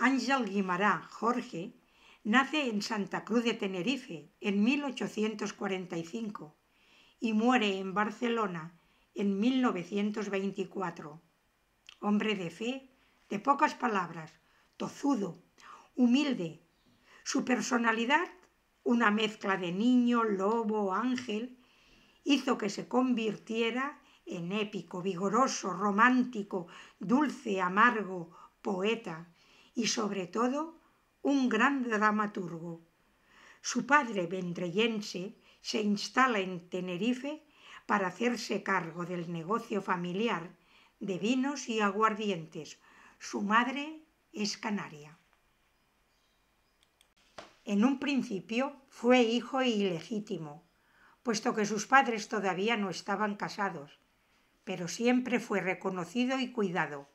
Ángel Guimará Jorge nace en Santa Cruz de Tenerife en 1845 y muere en Barcelona en 1924. Hombre de fe, de pocas palabras, tozudo, humilde. Su personalidad, una mezcla de niño, lobo, ángel, hizo que se convirtiera en épico, vigoroso, romántico, dulce, amargo, poeta y sobre todo un gran dramaturgo. Su padre, vendrellense, se instala en Tenerife para hacerse cargo del negocio familiar de vinos y aguardientes. Su madre es canaria. En un principio fue hijo ilegítimo, puesto que sus padres todavía no estaban casados, pero siempre fue reconocido y cuidado.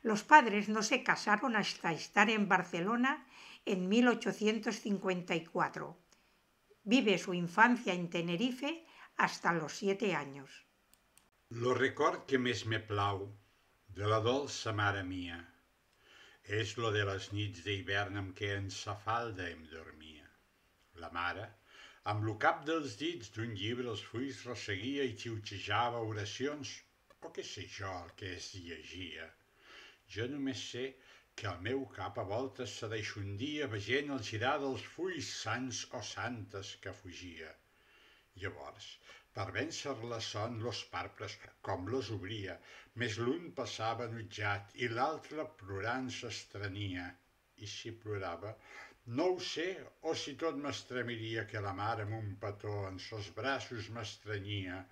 Los padres no se casaron hasta estar en Barcelona en 1854. Vive su infancia en Tenerife hasta los 7 años. Lo record que més me plau de la dolça mare mia és lo de les nits d'hivern amb què en sa falda em dormia. La mare, amb lo cap dels dits d'un llibre els fulls resseguia i xiuxejava oracions, o què sé jo el que es llegia. Jo només sé que el meu cap a voltes se deixondia veient el girar dels fulls sants o santes que fugia. Llavors, per vèncer la son, los parpres com los obria, més l'un passava enutjat i l'altre plorant s'estrenia. I si plorava, no ho sé, o si tot m'estremiria que la mare amb un petó en sos braços m'estrenyia,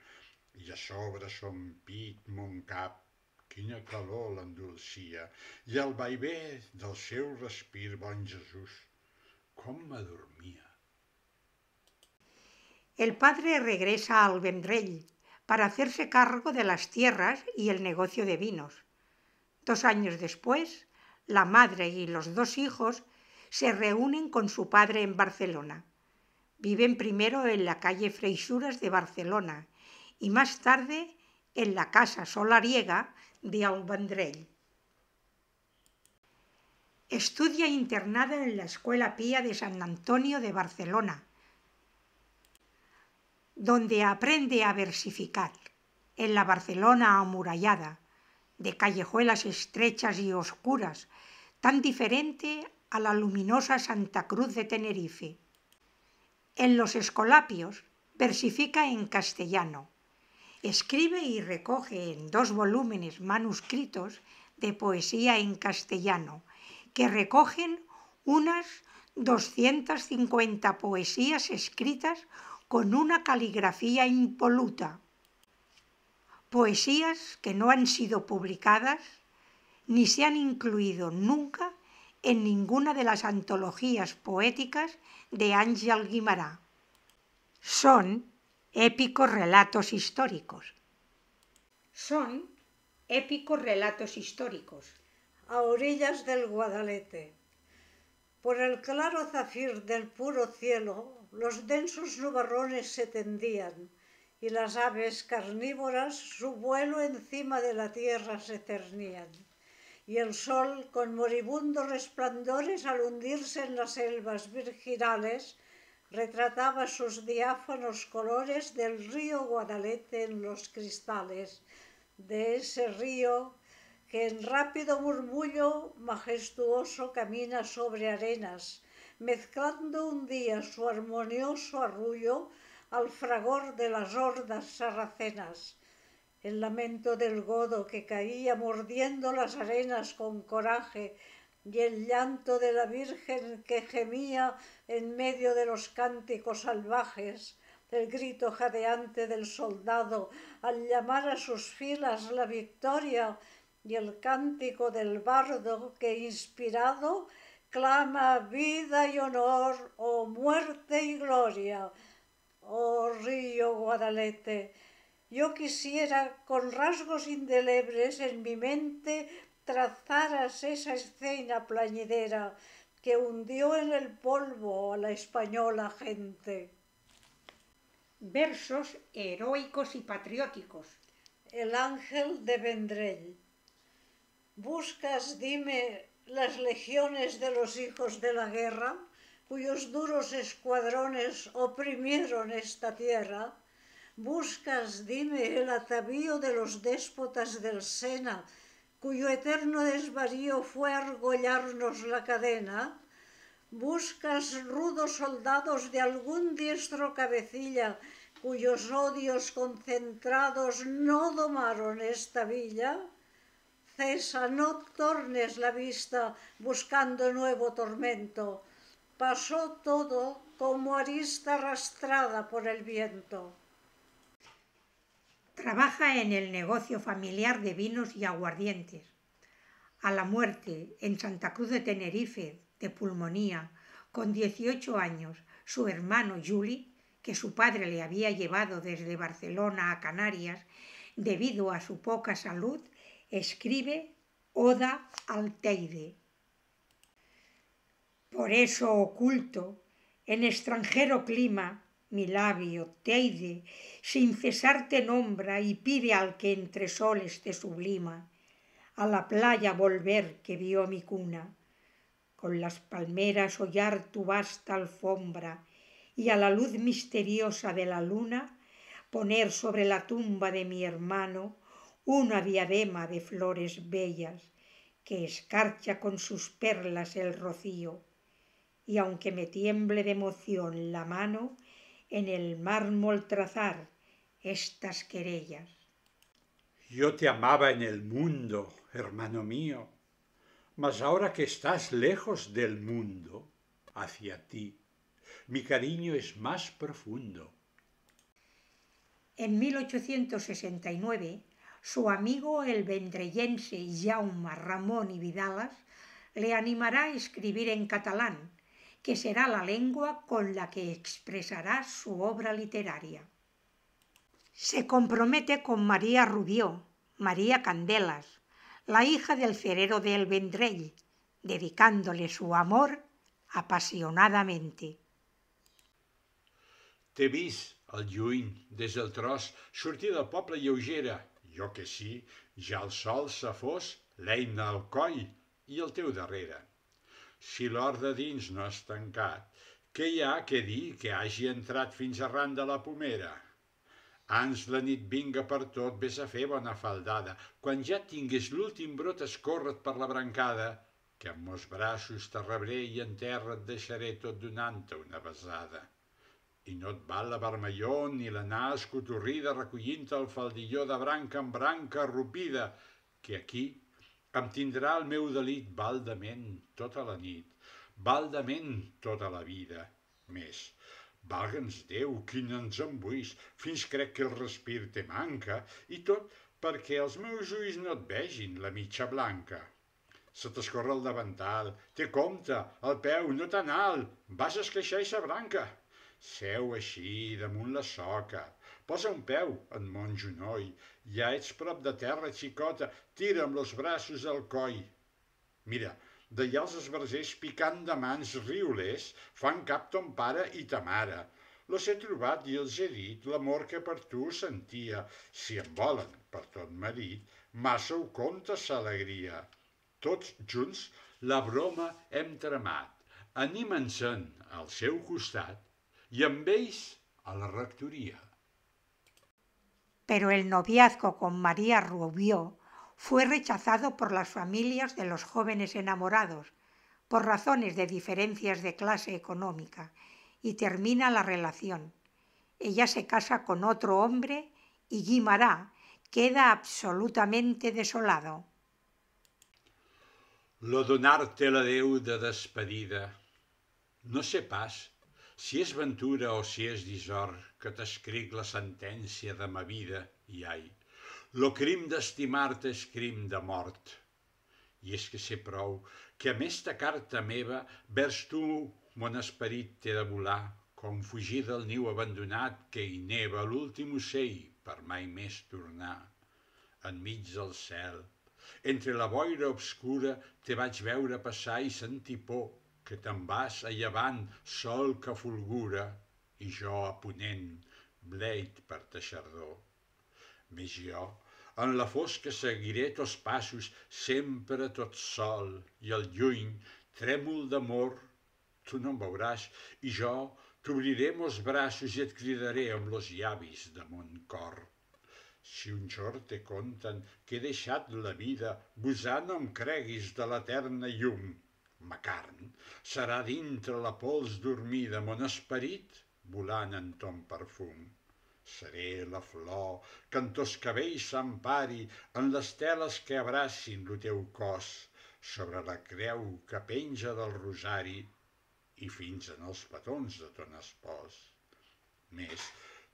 i a sobre son pit, mon cap, quina calor l'endolcia, i el vaivé del seu respir, bon Jesús, com m'adormia. El padre regresa al Vendrell para hacerse cargo de las tierras y el negocio de vinos. 2 años después, la madre y los 2 hijos se reúnen con su padre en Barcelona. Viven primero en la calle Freixures de Barcelona y más tarde en la casa solariega de El Vendrell. Estudia internada en la Escuela Pía de San Antonio de Barcelona, donde aprende a versificar, en la Barcelona amurallada, de callejuelas estrechas y oscuras, tan diferente a la luminosa Santa Cruz de Tenerife. En los Escolapios versifica en castellano. Escribe y recoge en 2 volúmenes manuscritos de poesía en castellano, que recogen unas 250 poesías escritas con una caligrafía impoluta. Poesías que no han sido publicadas ni se han incluido nunca en ninguna de las antologías poéticas de Ángel Guimará. Son épicos relatos históricos. A orillas del Guadalete. Por el claro zafir del puro cielo, los densos nubarrones se tendían, y las aves carnívoras su vuelo encima de la tierra se cernían. Y el sol, con moribundos resplandores al hundirse en las selvas virginales, retrataba sus diáfanos colores del río Guadalete en los cristales, de ese río que en rápido murmullo majestuoso camina sobre arenas, mezclando un día su armonioso arrullo al fragor de las hordas sarracenas. El lamento del godo que caía mordiendo las arenas con coraje y el llanto de la Virgen que gemía en medio de los cánticos salvajes, el grito jadeante del soldado al llamar a sus filas la victoria y el cántico del bardo que inspirado clama vida y honor, oh muerte y gloria, oh río Guadalete. Yo quisiera con rasgos indelebles en mi mente trazaras esa escena plañidera que hundió en el polvo a la española gente. Versos heroicos y patrióticos. El ángel de Vendrell. Buscas, dime, las legiones de los hijos de la guerra, cuyos duros escuadrones oprimieron esta tierra. Buscas, dime, el atavío de los déspotas del Sena, cuyo eterno desvarío fue argollarnos la cadena. Buscas rudos soldados de algún diestro cabecilla, cuyos odios concentrados no domaron esta villa. Cesa, no tornes la vista buscando nuevo tormento. Pasó todo como arista arrastrada por el viento. Trabaja en el negocio familiar de vinos y aguardientes. A la muerte, en Santa Cruz de Tenerife, de pulmonía, con 18 años, su hermano Juli, que su padre le había llevado desde Barcelona a Canarias debido a su poca salud, escribe Oda al Teide. Por eso oculto, en extranjero clima, mi labio, Teide, sin cesar te nombra y pide al que entre soles te sublima, a la playa volver que vio mi cuna, con las palmeras hollar tu vasta alfombra y a la luz misteriosa de la luna poner sobre la tumba de mi hermano una diadema de flores bellas que escarcha con sus perlas el rocío, y aunque me tiemble de emoción la mano, en el mármol trazar estas querellas. Yo te amaba en el mundo, hermano mío, mas ahora que estás lejos del mundo, hacia ti, mi cariño es más profundo. En 1869, su amigo el vendrellense Jaume Ramon y Vidalas le animará a escribir en catalán, que será la lengua con la que expresará su obra literaria. Se compromete con María Rubió, María Candelas, la hija del cerero de El Vendrell, dedicándole su amor apasionadamente. T'he vist, al lluny, des del tros, sortir del poble lleugera. Jo que sí, ja el sol se fos, l'eina al coll i el teu darrere. Si l'hort de dins no has tancat, què hi ha que dir que hagi entrat fins arran de la pomera? Ans la nit vinga per tot, vés a fer bona faldada. Quan ja tingues l'últim brot escorre't per la brancada, que amb mos braços te rebré i en terra et deixaré tot donant-te una besada. I no et val la vermelló ni la nas cotorrida recollint el faldilló de branca en branca arrupida, que aquí em tindrà el meu delit baldament tota la nit, baldament tota la vida. Més, valga'ns Déu, quin ens embuís, fins crec que el respir te manca, i tot perquè els meus ulls no et vegin la mitja blanca. Se t'escorre el davantal, té compte, el peu no tan alt, vas a esqueixar eixa branca. Seu així, damunt la soca, posa un peu en mon genoll, ja ets prop de terra, xicota, tira amb els braços al coll. Mira, d'allà els esbarzers picant de mans riolers fan cap ton pare i ta mare. Los he trobat i els he dit l'amor que per tu sentia. Si em volen per tot marit, massa ho compta s'alegria. Tots junts la broma hem tramat, animen-se'n al seu costat, y amb ells a la rectoría. Pero el noviazgo con María Rubió fue rechazado por las familias de los jóvenes enamorados, por razones de diferencias de clase económica, y termina la relación. Ella se casa con otro hombre y Guimarà queda absolutamente desolado. Lo donar-te l'adeu de despedida, no sé pas si és ventura o si és dissort que t'escric la sentència de ma vida, i ai, lo crim d'estimar-te és crim de mort. I és que sé prou que amb esta carta meva vers tu mon esperit t'he de volar, com fugir del niu abandonat que hi neva l'últim ocell per mai més tornar. Enmig del cel, entre la boira obscura, te vaig veure passar i sentir por, que te'n vas a llevant, sol que fulgura, i jo a ponent, bleit per ta xardor. Més jo, En la fosca seguiré tots passos, sempre tot sol, i al lluny, trèmol d'amor, tu no em veuràs, i jo t'obriré mos braços i et cridaré amb los llavis de mon cor. Si un jorn te conten que he deixat la vida, gosar no em creguis de l'eterna llum. Ma carn serà dintre la pols dormida, mon esperit volant en ton perfum. Seré la flor que en tos cabells s'empari, en les teles que abracin lo teu cos, sobre la creu que penja del rosari i fins en els petons de ton espòs. Més,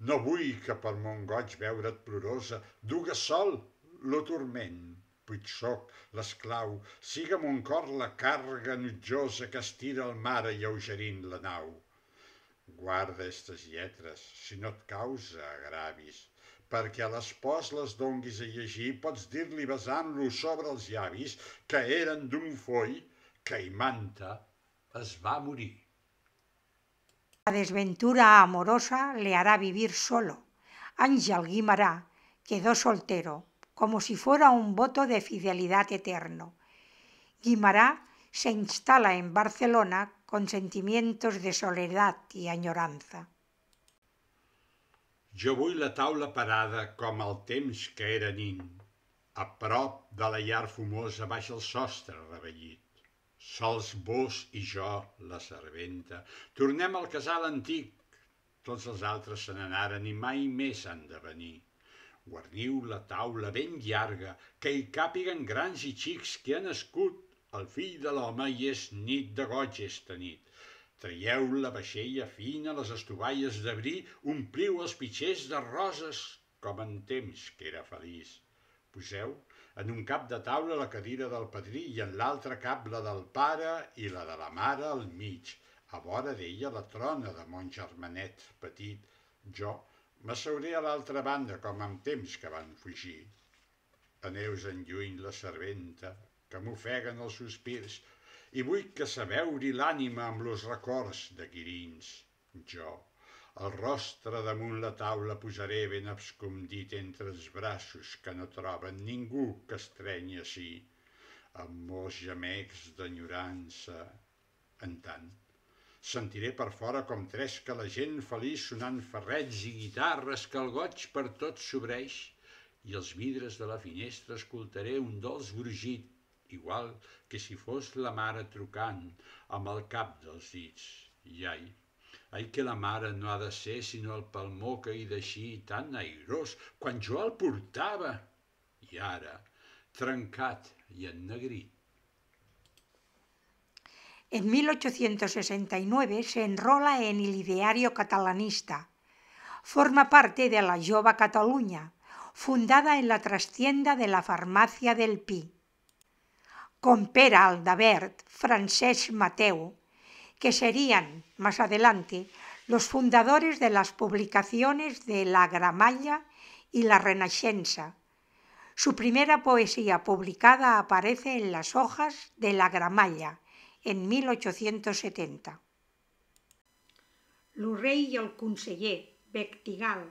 no vull que per mon goig veure't plorosa, duga sol lo turment, puig soc l'esclau, siga mon cor la càrrega enutjosa que estira el mar alleugerint la nau. Guarda estes lletres, si no et causa agravis, perquè a l'espòs les donguis a llegir, pots dir-li besant-lo sobre els llavis que eren d'un foll que Imanta es va morir. La desventura amorosa le hará vivir solo. Ángel Guimará quedó soltero, como si fuera un voto de fidelidad eterno. Guimará se instala en Barcelona con sentimientos de soledad y añoranza. Jo vull la taula parada com el temps que era nin, a prop de la llar fumosa baix el sostre revellit. Sols vos i jo, la serventa, tornem al casal antic. Tots els altres se n'anaren i mai més han de venir. Guarniu la taula ben llarga, que hi càpiguen grans i xics que ha nascut el fill de l'home i és nit de goig esta nit. Traieu la vaixella fina, les estovalles de bri, ompliu els pitxers de roses, com en temps que era feliç. Poseu en un cap de taula la cadira del padrí i en l'altre cap la del pare i la de la mare al mig. A vora d'ella la trona de mon germanet petit. Jo m'asseuré a l'altra banda com en temps que van fugir. Aneus en lluny la serventa, que m'ofeguen els sospirs, i vull que s'aveuri l'ànima amb los records de guirins. Jo, el rostre damunt la taula posaré ben abscondit entre els braços que no troben ningú que estrenyi ací, amb molts gemecs d'enyorança. En tant, sentiré per fora com tresca la gent feliç sonant ferrets i guitarres que el goig per tot s'obreix, i els vidres de la finestra escoltaré un dolç brugit, igual que si fos la mare trucant amb el cap dels dits. I ai que la mare no ha de ser sinó el palmó que hi deixí tan airós quan jo el portava, i ara trencat i ennegrit. En 1869 se enrola en el ideario catalanista. Forma parte de la Jove Catalunya, fundada en la trastienda de la Farmacia del Pi. Con Pere Aldabert, Francesc Mateu, que serían, más adelante, los fundadores de las publicaciones de La Gramalla y La Renaixença. Su primera poesía publicada aparece en las hojas de La Gramalla, en 1870. L'Orell i el conseller, Bectigal,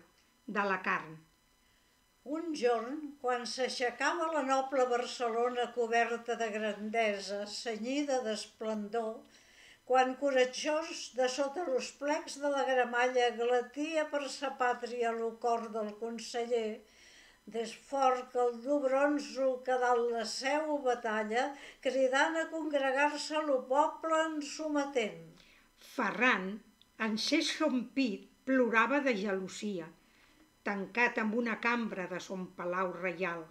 d'Alacarn. Un jorn, quan s'aixecava la noble Barcelona coberta de grandesa, cenyida d'esplendor, quan coratjós de sota los plecs de la Gramalla glatia per sa pàtria lo cor del conseller, des fort que el dur bronzo que dalt la seu batalla, cridant a congregar-se lo poble en sometent. Ferran, encès son pit, plorava de gelosia, tancat amb una cambra de son palau reial.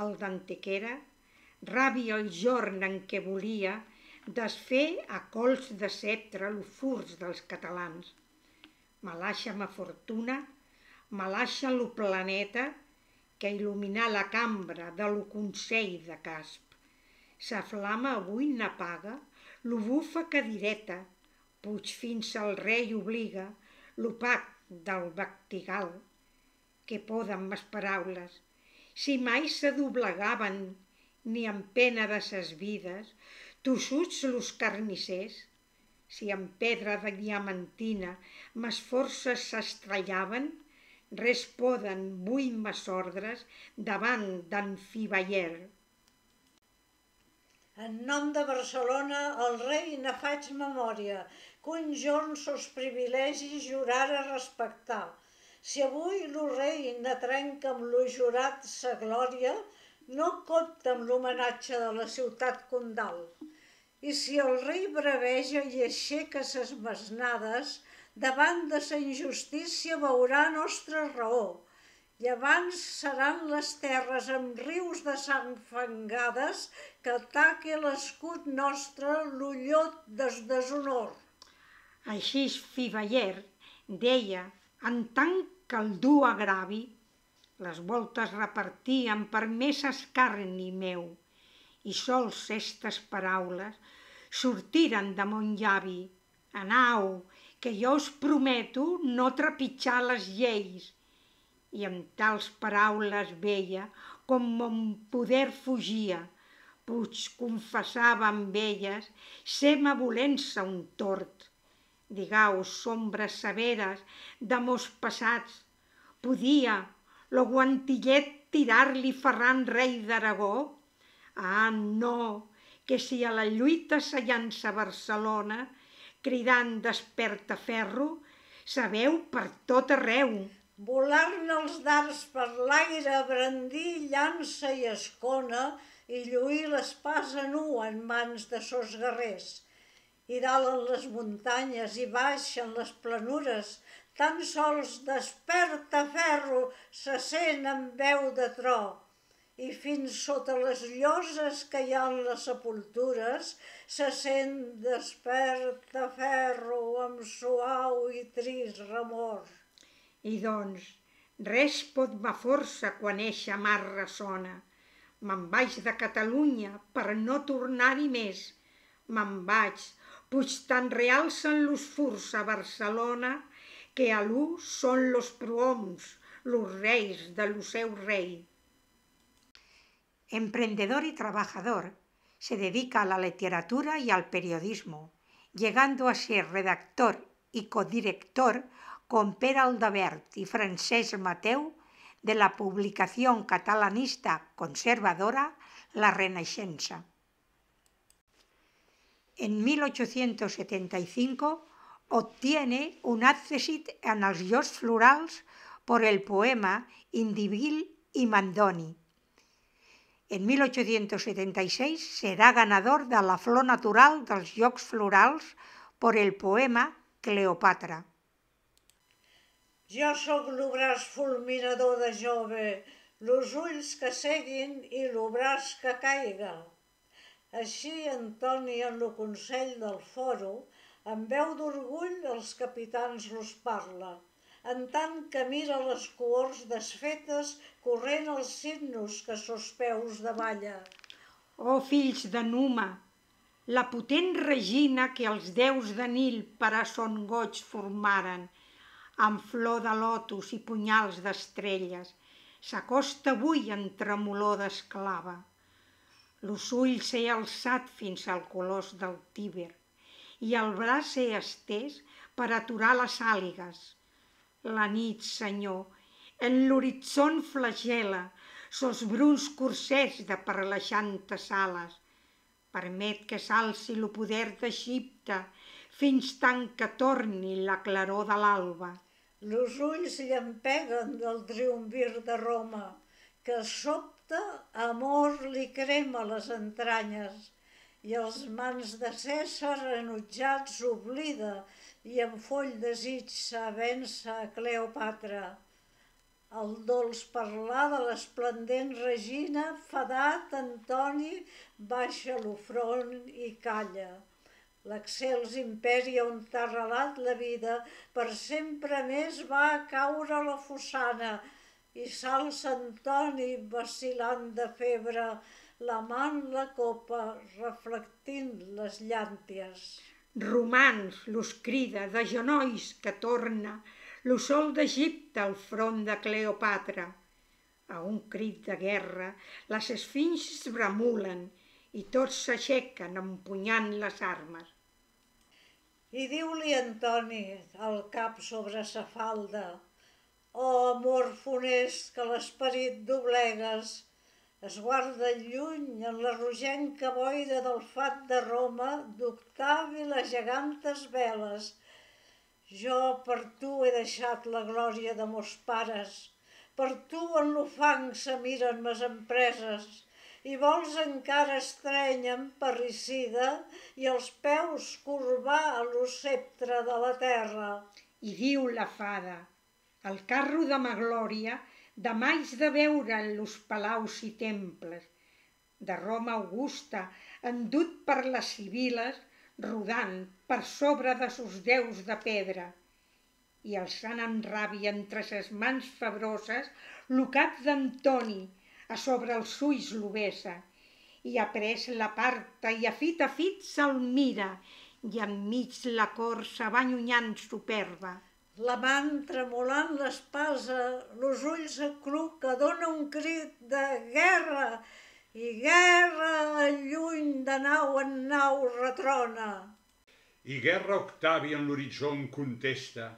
El d'Antequera, ràbia el jorn en què volia desfer a cols de sceptre lo furs dels catalans. Malaixa ma fortuna, malaixa lo planeta, que il·luminar la cambra de lo Consell de Casp. Sa flama avui n'apaga lo bufa cadireta, puig fins al rei obliga l'opac del Bectigal. Que poden mes paraules, si mai se doblegaven ni en pena de ses vides, tossuts los carnissers, si en pedra de diamantina mes forces s'estrellaven, res poden vull mas ordres davant d'en Fiveller. En nom de Barcelona, el rei ne faig memòria, que un jorn sos privilegis jurara respectar. Si avui lo rei ne trenca amb lo jurat sa glòria, no compta amb l'homenatge de la ciutat condal. I si el rei braveja i aixeca ses mesnades, davant de sa injustícia veurà nostra raó. I abans seran les terres amb rius de sang fangades que ataque l'escut nostre l'ullot des deshonor. Així Fiveller deia, en tant que el dur agravi, les voltes repartien per més escarni meu, i sols estes paraules sortiren de mon llavi. Anau, que jo us prometo no trepitjar les lleis. I amb tals paraules veia com mon poder fugia, puig confessava amb elles ser-me volent-se un tort. Digaus, sombres severes de mos passats, podia lo guantillet tirar-li Ferran rei d'Aragó? Ah, no, que si a la lluita se llança a Barcelona, cridant desperta ferro, sabeu per tot arreu. Volar-ne els dards per l'aire, brandir llança i escona i lluir l'espasa nua en mans de sos guerrers. I dalt en les muntanyes i baix en les planures, tan sols desperta ferro se sent amb veu de tro. I fins sota les lloses que hi ha en les sepultures se sent desperta ferro amb suau i trist remor. I doncs, res pot ma força quan eixa mar ressona. Me'n vaig de Catalunya per no tornar-hi més. Me'n vaig, puig tan realcen los furs a Barcelona que a l'u són los prohoms, los reis de lo seu rei. Emprendedor y trabajador, se dedica a la literatura y al periodismo, llegando a ser redactor y codirector con Pere Aldabert y Francesc Mateu de la publicación catalanista conservadora La Renaixença. En 1875 obtiene un accèssit en els Jocs Florals por el poema Indivil y Mandoni. En 1876 será ganador de la Flor Natural dels Jocs Florals por el poema Cleopatra. Jo sóc l'obràs fulminador de jove, los ulls que seguin i l'obràs que caiga. Així Antoni en lo consell del foro, amb veu d'orgull els capitans los parla, en tant que mira les cohorts desfetes corrent els signos que sos peus davalla. Oh, fills de Numa, la potent regina que els déus de Nil per a son goig formaren, amb flor de lotus i punyals d'estrelles, s'acosta avui en tremolor d'esclava. Los ulls he alçat fins al colós del Tíber i el braç he estès per aturar les àligues. La nit, Senyor, en l'horitzó flagela sos bruns corsers de parlaixantes ales. Permet que s'alci lo poder d'Egipte fins tant que torni la claror de l'alba. Los ulls llampeguen del triumvir de Roma, que sobte amor li crema les entranyes, i els mans de Cèsar enutjats oblida i amb foll desig vèncer a Cleopatra. El dolç parlar de l'esplendent regina, fadat Antoni baixa lo front i calla. L'excels imperi on t'ha arrelat la vida, per sempre més va a caure la fossana, i s'alça Antoni vacil·lant de febre, la mà en la copa, reflectint les llànties. Romans los crida de genolls que torna lo sol d'Egipte al front de Cleopatra. A un crit de guerra les esfinxes bramulen i tots s'aixequen empunyant les armes. I diu-li Antoni, el cap sobre sa falda, amor funest que l'esperit doblegues, es guarda lluny en la rogenca boira del fat de Roma d'Octavi les gegantes veles. Jo per tu he deixat la glòria de mos pares, per tu en l'ufang se miren mes empreses, i vols encara estrènyer parricida i els peus corbar a lo sceptre de la terra. I diu la fada, el carro de ma glòria demà haig de veure en los palaus i temples de Roma Augusta, endut per les sibil·les, rodant per sobre de sos déus de pedra, i alçant amb ràbia entre ses mans febroses lo cap d'Antoni, a sobre els ulls lo besa, i après l'aparta i a fit se'l mira, i enmig la cor se va allunyant superba. La man tremolant l'espasa, los ulls acluca, dona un crit de guerra, i guerra lluny de nau en nau retrona. I guerra Octavi en l'horitzó en contesta,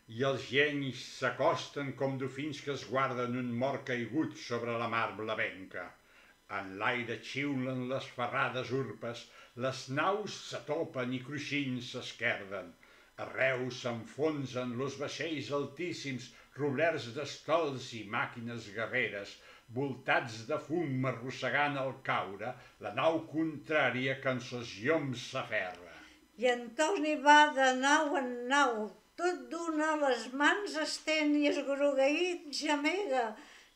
i els genis s'acosten com dofins que es guarden un mort caigut sobre la mar blavenca. En l'aire xiulen les ferrades urpes, les naus s'atopen i cruixint s'esquerden. Arreu s'enfonsen los vaixells altíssims, roblerts d'estols i màquines guerreres, voltats de fum arrossegant al caure la nau contrària que en sos lloms s'aferra. I Antoni va de nau en nau, tot d'una les mans estén i esgrogueït gemega,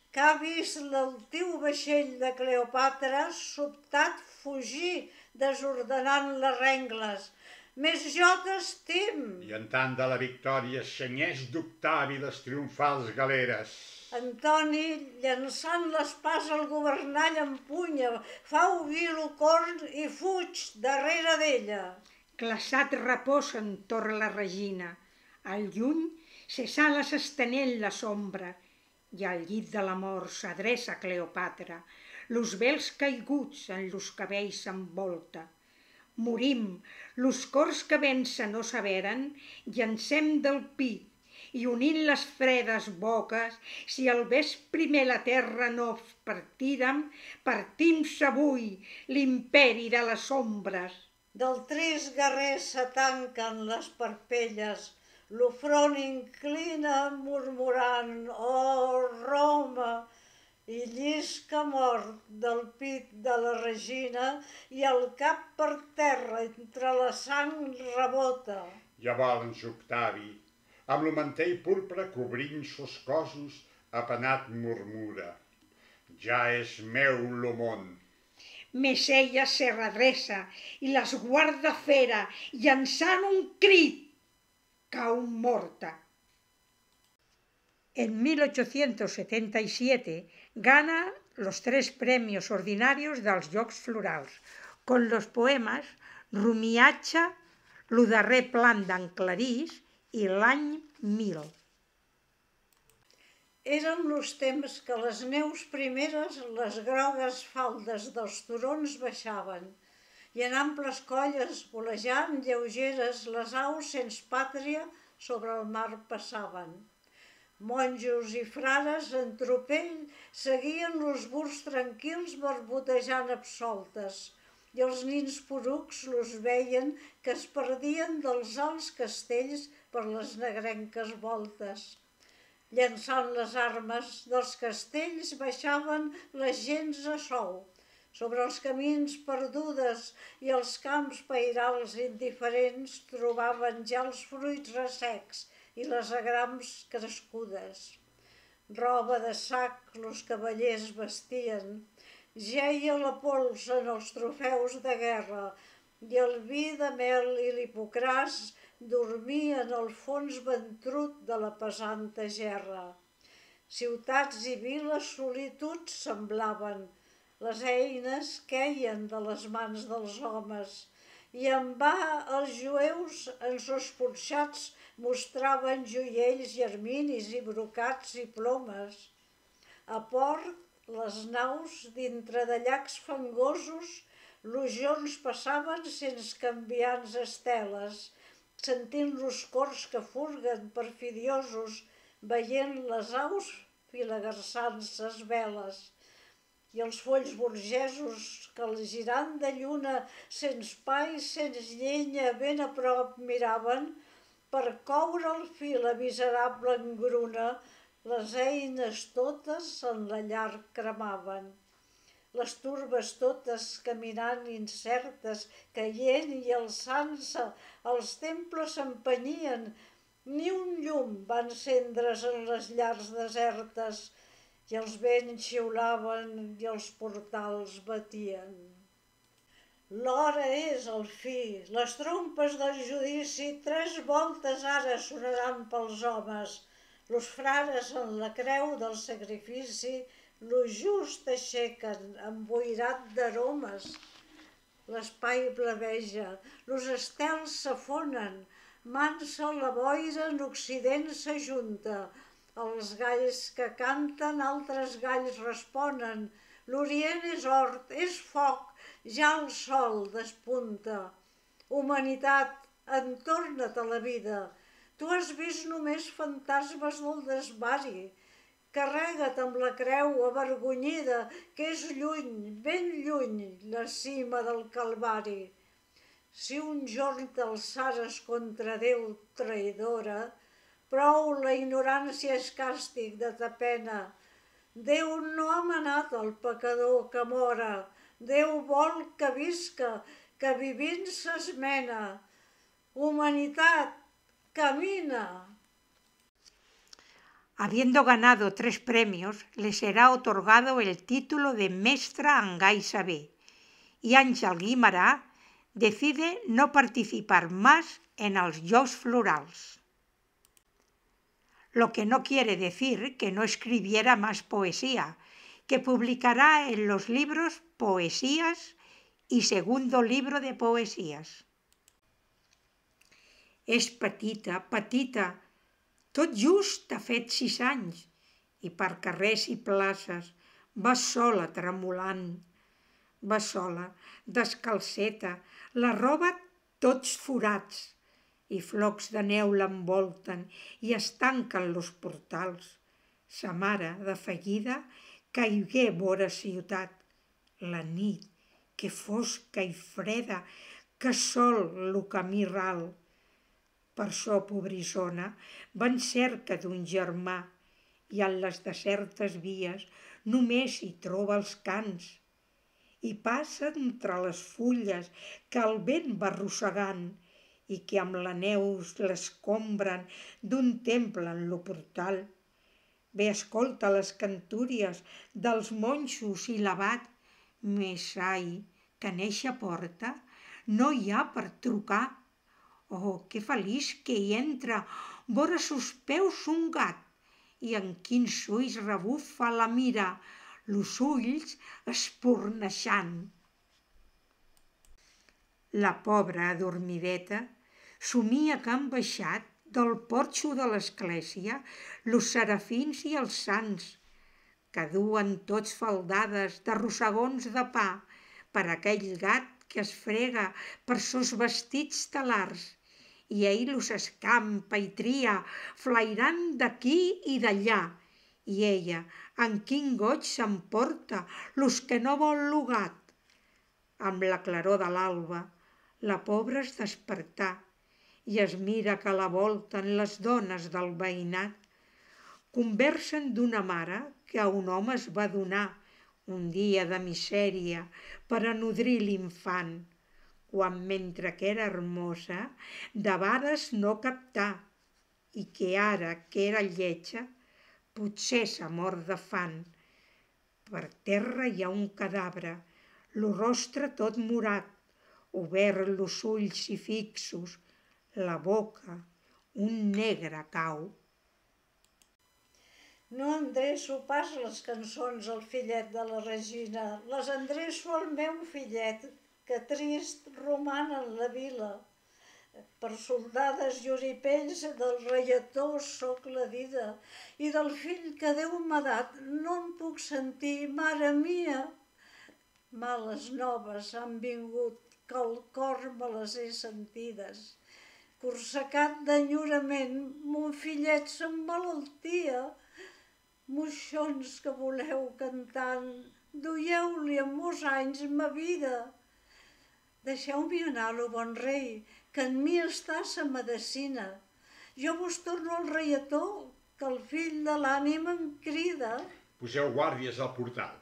que ha vist l'altiu vaixell de Cleopatra sobtat fugir, desordenant les rengles. Més jo t'estim. I en tant de la victòria senyeix d'Octavi les triomfals galeres. Antoni, llançant l'espasa al governall empunya, fa obrir l'ocorn i fuig darrere d'ella. Glaçat reposa entorn la regina. Al lluny se sala s'estenent la sombra, i al llit de la mort s'adreça Cleopatra. Los vels caiguts en los cabells s'envolta. Morim, los cors que vencen no saberen, llancem del pit, i unint les fredes boques, si al vés primer la terra no partírem, partim-se avui l'imperi de les ombres. Del trist guerrer s'atanquen les parpelles, lo front inclina murmurant, oh Roma, i llisca mort del pit de la regina i el cap per terra entre la sang rebota. Llavors Octavi, amb lo mantell purpre cobrint sos cossos, apenat murmura: ja és meu lo món. Més ella se redreça i les guarda fera, llançant un crit, cau morta. En 1877 gana los 3 premios ordinarios dels Jocs Florals, con los poemes Rumiatge, lo darrer plan d'en Clarís i l'any 1000. Eren los temps que les neus primeres les grogues faldes dels turons baixaven i en amples colles golejant lleugeres les aus sens pàtria sobre el mar passaven. Monjos i frares en tropell seguien los burs tranquils barbotejant absoltes i els nins porucs los veien que es perdien dels alts castells per les negrenques voltes. Llançant les armes dels castells baixaven les gens a sou, sobre els camins perdudes i els camps pairals indiferents trobaven ja els fruits ressecs i les agrams crescudes. Roba de sac los cavallers vestien, geia la pols en els trofeus de guerra i el vi de mel i l'hipocràs dormia en el fons ventrut de la pesanta gerra. Ciutats i viles solituds semblaven, les eines queien de les mans dels homes, i en va els jueus en sos porxats mostraven joiells i erminis i brocats i plomes. A port, les naus, dintre de llacs fangosos, los jorns passaven sense canviants esteles, sentint los cors que furguen perfidiosos veient les aus filagarçant ses veles, i els folls burgesos que al girant de lluna, sens pa i sens llenya, ben a prop miraven, per coure el fil la miserable engruna, les eines totes en la llar cremaven. Les turbes totes caminant incertes, caient i alçant-se, els temples s'empenyien, ni un llum va encendre's en les llars desertes, i els vents xiulaven i els portals batien. L'hora és, al fi, les trompes del judici 3 voltes ara sonaran pels homes. Los frares en la creu del sacrifici lo just aixequen, emboirat d'aromes. L'espai blaveja, los estels s'afonen, mansa la boira en occident s'ajunta. Els galls que canten, altres galls responen. L'orient és hort, és foc, ja el sol despunta. Humanitat, entorna't a la vida. Tu has vist només fantasmes del desvari. Carrega't amb la creu avergonyida, que és lluny, ben lluny, la cima del Calvari. Si un jorn t'alçares contra Déu traïdora, prou la ignorància és càstig de ta pena. Déu no ha manat al pecador que mora. Déu vol que visca, que vivint s'esmena. Humanitat, camina. Habiendo ganado 3 premios, le será otorgado el título de Mestra en Gai Saber, y Àngel Guimerà decide no participar más en els Jocs Florals. Lo que no quiere decir que no escribiera más poesía, que publicará en los libros Poesías y Segundo Libro de Poesías. És petita, petita, tot just ha fet 6 anys, i per carrers i places va sola tremolant. Va sola, descalceta, la roba tots forats, i flocs de neu l'envolten i es tanquen los portals. Sa mare, de seguida, caigué vora ciutat. La nit, que fosca i freda, que sol lo camí ral. Per çò, pobrissona, va en cerca d'un germà, i en les desertes vies només hi troba els cans. I passa entre les fulles que el vent va arrossegant i que amb la neu l'escombren d'un temple en lo portal. Bé, escolta les cantúries dels monjos i l'abat, més ai, que en eixa porta no hi ha per trucar. Oh, que feliç que hi entra vora sos peus un gat, i en quins ulls rebufa la mira, los ulls espurneixant. La pobra adormideta somia que han baixat del porxo de l'església los serafins i els sants, que duen tots faldades de rossegons de pa per aquell gat que es frega per sos vestits talars, i ell los escampa i tria, flairant d'aquí i d'allà, i ella, en quin goig s'emporta los que no vol lo gat. Amb la claror de l'alba, la pobra es despertà i es mira que la volten les dones del veïnat. Conversen d'una mare que a un home es va donar un dia de misèria per a nodrir l'infant, quan mentre que era hermosa, debades no captà, i que ara que era lletja, potser s'ha mort de fam. Per terra hi ha un cadàver, lo rostre tot morat, obert los ulls i fixos, la boca, un negre cau. No endreço pas les cançons al fillet de la Regina, les endreço al meu fillet, que trist roman en la vila. Per soldades i oripells del reietó soc la dida, i del fill que Déu m'ha dat no em puc sentir, mare mia. Males noves han vingut, que al cor me les he sentides. corsecat d'enyorament, mon fillet s'emmalaltia. Moixons que voleu cantant, duieu-li en molts anys ma vida. Deixeu-m'hi anar, lo bon rei, que en mi està sa medecina. Jo vos torno al reietó, que el fill de l'ànima em crida. Poseu guàrdies al portal,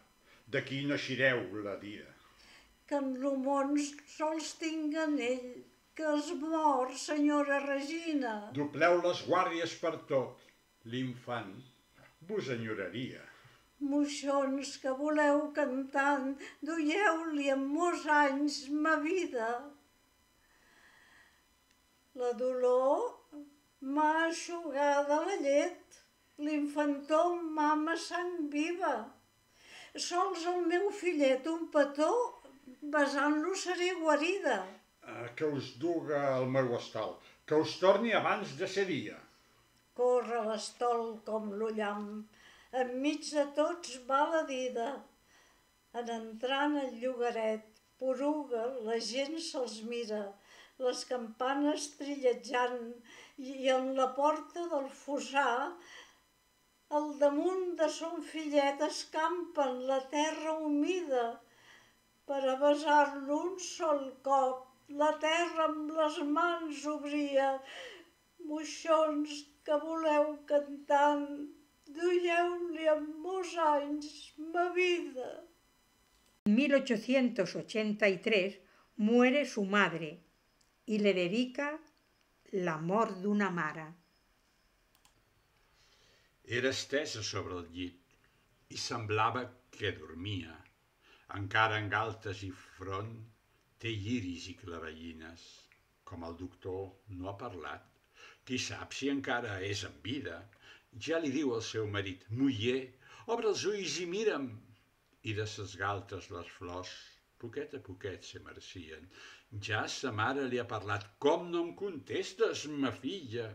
d'aquí no eixireu la dia. Que en lo món sols tinguen ell, que es mor, senyora Regina. Dobleu les guàrdies per tot, l'infant vos enyoraria. Moixons que voleu cantant, duieu-li en molts anys ma vida. La dolor m'ha eixugada la llet, l'infantó mama sang viva. Sols el meu fillet, un petó, besant-lo seré guarida. Que us duga el meu estol, que us torni abans de ser dia. Corre l'estol com l'ullam, enmig de tots va la dida. En entrant al llogaret, poruga, la gent se'ls mira, les campanes trillejant, i en la porta del fossar, al damunt de son fillet escampen la terra humida. Per a besar-lo un sol cop, la terra amb les mans obria. Moixons que voleu cantant, duieu-li en molts anys ma vida. En 1883 muere su madre y le dedica l'amor d'una mare. Era estesa sobre el llit i semblava que dormia. Encara en galtes i front té lliris i clavellines. Com el doctor no ha parlat, qui sap si encara és en vida. Ja li diu al seu marit: «Muller, obre els ulls i mira'm». I de ses galtes les flors, poquet a poquet se marcien. Ja sa mare li ha parlat: «Com no em contestes, ma filla?»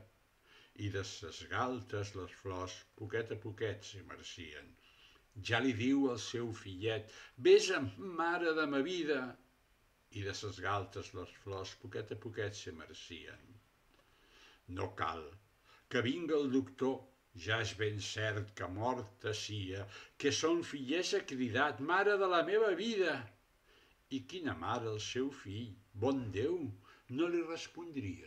I de ses galtes les flors, poquet a poquet se marcien. Ja li diu al seu fillet: «Besa'm, mare de ma vida». I de ses galtes les flors, poquet a poquet se marcien. No cal que vinga el doctor, ja és ben cert que morta sia, que son fillet s'ha cridat: «Mare de la meva vida!» I quina mare al seu fill, bon Déu, no li respondria.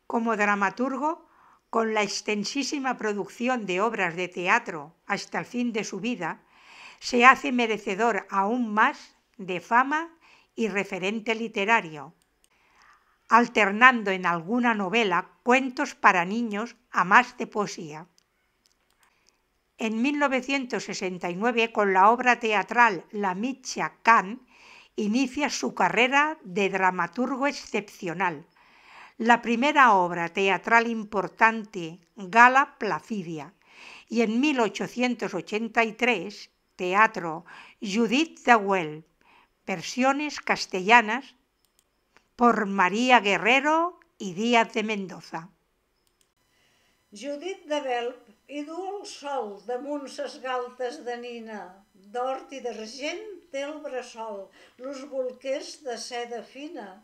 Como dramaturgo, con la extensísima producción de obras de teatro hasta el fin de su vida, se hace merecedor aún más de fama y referente literario, alternando en alguna novela cuentos para niños a más de poesía. En 1969, con la obra teatral La Mitja Cant, inicia su carrera de dramaturgo excepcional. La primera obra teatral importante, Gala Placidia, y en 1883, teatro Judit de Güell, versiones castellanas por María Guerrero y Díaz de Mendoza. Judit de Velp hi du el sol damunt ses galtes de nina, d'hort i d'argent té el bressol, los bolquers de seda fina.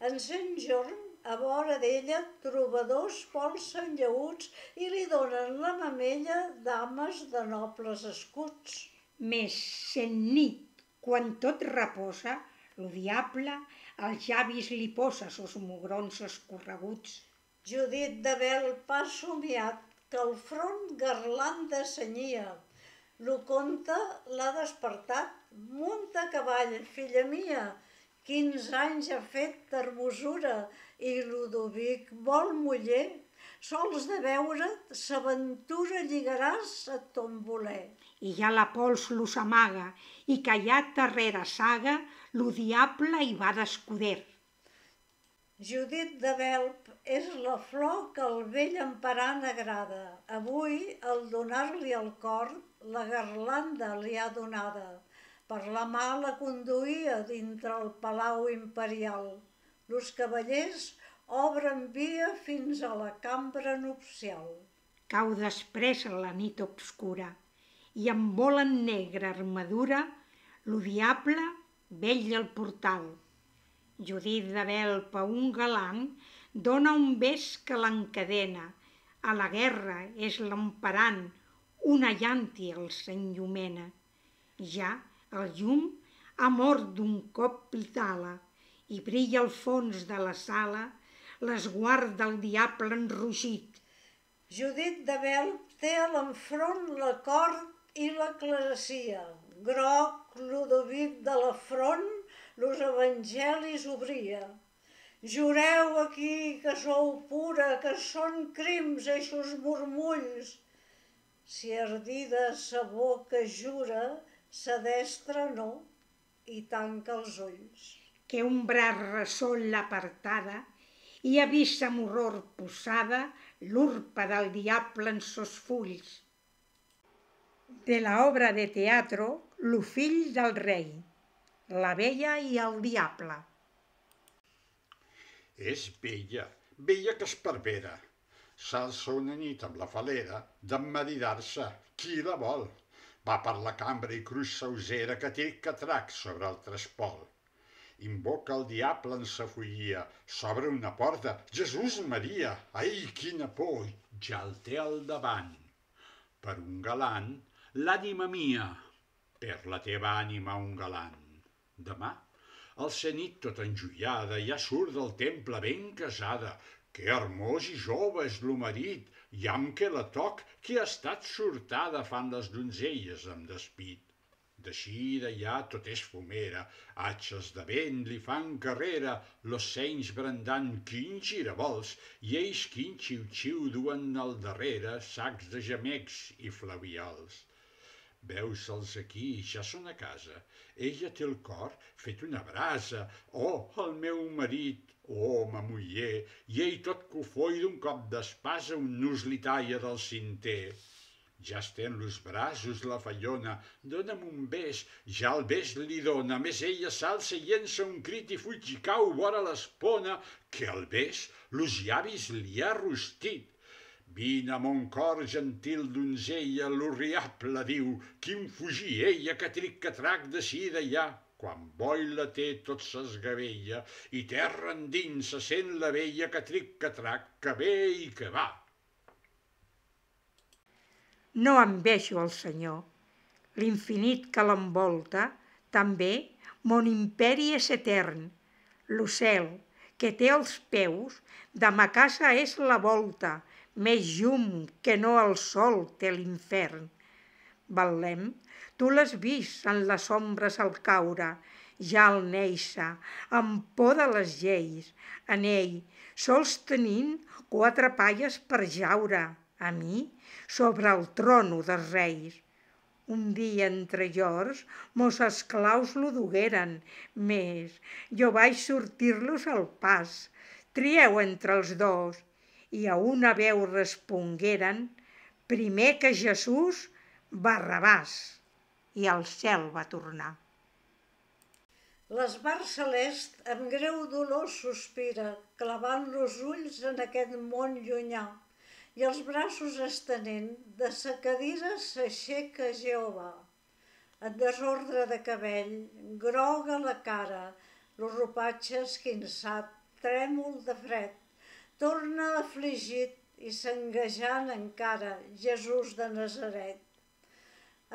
En Sant Jorn, a vora d'ella, trobadors polsen llaüts i li donen la mamella dames de nobles escuts. Mes en nit, quan tot reposa, lo diable als llavis li posa sos mugrons escorreguts. Judit de Velp ha somiat que el front garlanda senyia. Lo conte l'ha despertat. Munta a cavall, filla mia, 15 anys ha fet d'hermosura i Ludovic vol muller. Sols de veure't, s'aventura lligaràs a ton voler. I ja la pols lo s'amaga, i callat darrere saga, lo diable hi va d'escuder. Judit de Velp és la flor que el vell emperant agrada. Avui, al donar-li el cor, la garlanda li ha donada. Per la mà la conduïa dintre el palau imperial. Los cavallers obren via fins a la cambra nupcial. Cau després la nit obscura, i amb volant negra armadura, lo diable vetlla al portal. Judit de Belpa, un galant, dona un bes que l'encadena. A la guerra és l'emperant, una llàntia el s'enllumena. Ja el llum ha mort d'un cop vitala i brilla al fons de la sala l'esguard del diable enrogit. Judit de Belp té a l'enfront la cort i la clerecia. Groc, Ludovic de la front, los evangelis obria. Jureu aquí que sou pura, que són crims eixos murmulls. Si ardida sa boca jura, sa destra no, i tanca els ulls. Que un braç ressol l'apartada i ha vist amb horror posada l'urpa del diable en sos fulls. De la obra de teatro Lo fill del rei, la vella i el diable. És vella, vella que esparvera. S'alça una nit amb la falera d'emmaridar-se. Qui la vol? Va per la cambra i cruix sa usera que té catrac sobre el trespol. Invoca el diable en sa follia. S'obre una porta. Jesús Maria! Ai, quina por! Ja el té al davant. Per un galant, l'ànima mia. Per la teva ànima un galant. Demà, al ser nit tota enjoiada, ja surt del temple ben casada. Que hermós i jove és lo marit, i amb què la toc, que ha estat sortada, fan les donzelles amb despit. D'així d'allà tot és fumera, atxes de vent li fan carrera, los senys brandant quin giravolts, i ells quin xiu-xiu duen al darrere sacs de gemecs i flaviols. Veus-los aquí, ja són a casa. Ella té el cor fet una brasa. Oh, el meu marit, oh, ma muller, i ell tot cofoi d'un cop d'espasa un nus li talla del cinter. Ja estén los braços la fallona, dona'm un bes, ja el bes li dona, més ella s'alça i llença un crit i fuig i cau vora l'espona, que el bes los llavis li ha rostit. Vine a mon cor, gentil donzella, l'horriable diu, quin fugir ella que tric-que-trac d'ací d'allà. Quan boira té tot s'esgavella i terra endins se sent la vella que tric-que-trac, que ve i que va. No envejo el Senyor. L'infinit que l'envolta, també mon imperi és etern. L'ocel, que té els peus, de ma casa és la volta, més llum que no el sol té l'infern. Betlem, tu l'has vist en les ombres al caure, ja al néixer, amb por de les lleis, en ell, sols tenint 4 palles per jaure, a mi, sobre el trono dels reis. Un dia entre llors, mos esclaus lo dugueren, més jo vaig sortir-los al pas. Trieu entre els dos, i a una veu respongueren, primer que Jesús, Barrabàs, i al cel va tornar. L'esbar celest amb greu dolor sospira, clavant los ulls en aquest món llunyà, i els braços estenent, de sa cadira s'aixeca Jehovà. En desordre de cabell, groga la cara, los ropatge esquinçat, trèmol de fred, torna afligit i s'enguejant encara Jesús de Nazaret.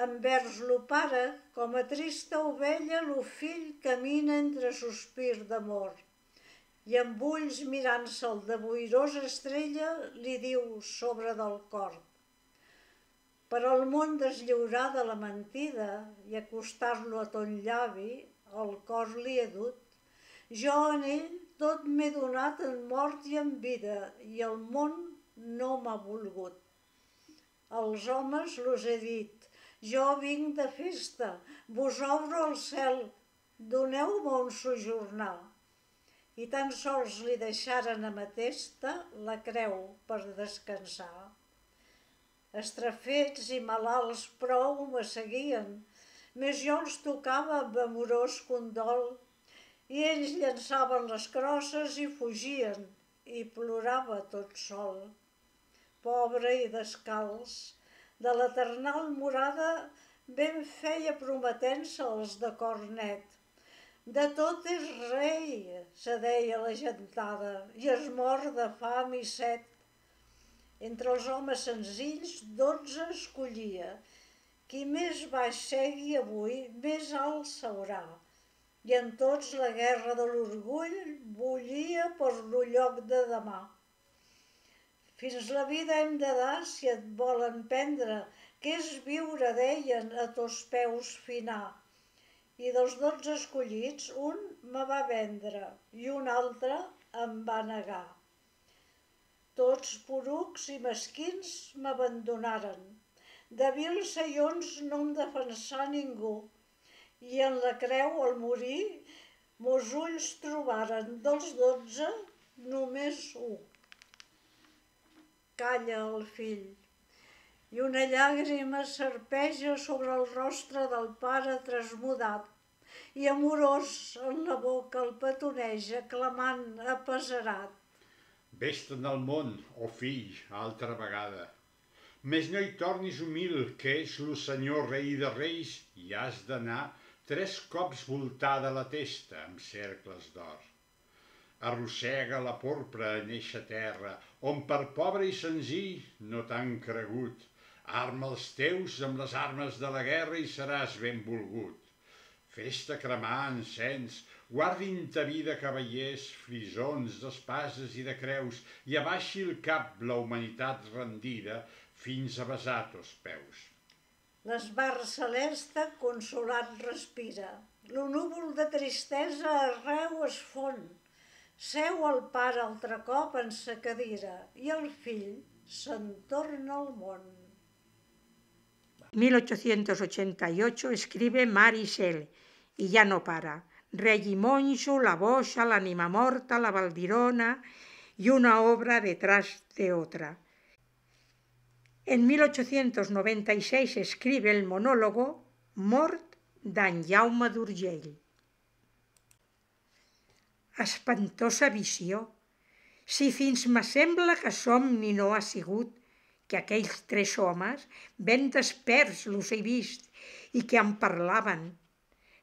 Envers lo pare, com a trista ovella, lo fill camina entre sospir d'amor. I amb ulls mirant-se'l de boirosa estrella li diu sobre del cor. Per al món deslliurar de la mentida i acostar-lo a ton llavi, el cor li he dut. Jo en ell tot m'he donat en mort i en vida, i el món no m'ha volgut. Als homes los he dit, jo vinc de festa, vos obro el cel, doneu-me on sojornar. I tan sols li deixaren ametesta la creu per descansar. Estrafets i malalts prou me seguien, més jo els tocava amb amorós condol, i ells llançaven les crosses i fugien, i plorava tot sol. Pobre i descalç, de l'eternal morada ben feia prometent-se els de cor net. De tot és rei, se deia la gentada, i es mor de fam i set. Entre els homes senzills 12 escollia. Qui més baix segui avui, més alt s'haurà. I en tots la guerra de l'orgull bullia per lo lloc de demà. Fins la vida hem de dar si et volen prendre, que és viure, deien, a tos peus finar. I dels 12 escollits, un me va vendre i un altre em va negar. Tots porucs i mesquins m'abandonaren. De vils seions no em defensà ningú. I en la creu, al morir, mos ulls trobaren dels 12 només un. Calla el fill, i una llàgrima serpeja sobre el rostre del pare trasmudat, i amorós en la boca el petoneja, clamant apesarat. Vés-te'n al món, oh fill, altra vegada. Més no hi tornis humil, que és lo senyor rei de reis, i has d'anar 3 cops voltada la testa amb cercles d'or. Arrossega la porpra en eixa terra, on per pobre i senzill no t'han cregut. Arma els teus amb les armes de la guerra i seràs ben volgut. Fes-te cremar encens, guardin ta vida cavallers, frisons d'espases i de creus, i abaixi el cap la humanitat rendida fins a besar tos peus. L'esbar celeste consolat respira. Lo núvol de tristesa arreu es fon. Seu el pare altre cop en sa cadira i el fill se'n torna al món. 1888 escribe Marisel y ya no para. Regimonjo, La Boxa, L'Anima Morta, La Valdirona y una obra detrás de otra. En 1896 escribe el monólogo Mort d'en Jaume d'Urgell. Espantosa visió! Si fins m'assembla que somni no ha sigut, que aquells 3 homes, ben desperts los he vist i que em parlaven.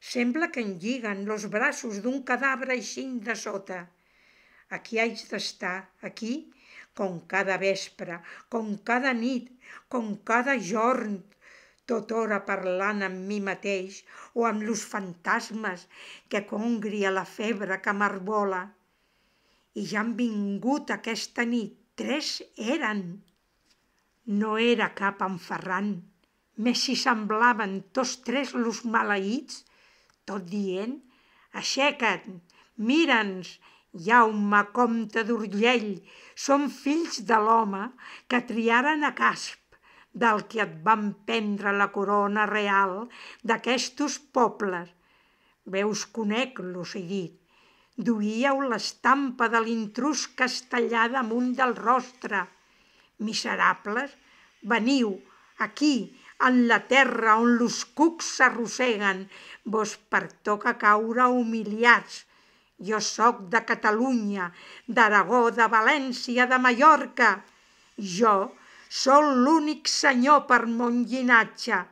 Sembla que em lliguen los braços d'un cadàver eixint de sota. Aquí haig d'estar, aquí, com cada vespre, com cada nit, com cada jorn, tota hora parlant amb mi mateix o amb los fantasmes que congria la febre que m'arbola. I ja han vingut aquesta nit, 3 eren. No era cap en Ferran, més si semblaven tots 3 los maleïts, tot dient: aixeca't, mira'ns, Jaume, comte d'Urgell, som fills de l'home que triaren a casp, del que et van prendre la corona real d'aquestos pobles. Veus, conec-los, he dit. Duíeu l'estampa de l'intrús castellà damunt del rostre. Miserables, veniu, aquí, en la terra on los cucs s'arrosseguen, vos pertoca caure humiliats. Jo soc de Catalunya, d'Aragó, de València, de Mallorca. Jo sóc l'únic senyor per mon llinatge.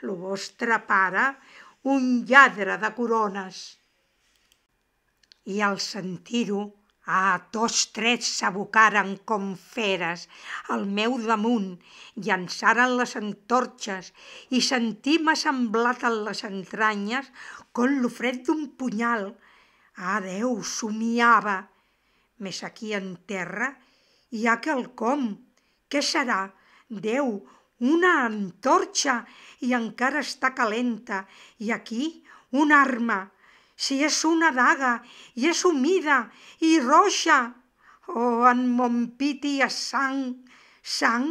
Lo vostre pare, un lladre de corones. I al sentir-ho, tots 3 s'abocaren com feres al meu damunt, llançaren les antorxes i sentí-me semblat en les entranyes com lo fred d'un punyal. Déu, somiava. Més aquí en terra hi ha quelcom. Què serà? Déu, una antorxa i encara està calenta. I aquí una arma. Si és una daga i és humida i roja. Oh, en mon pit hi ha sang. Sang?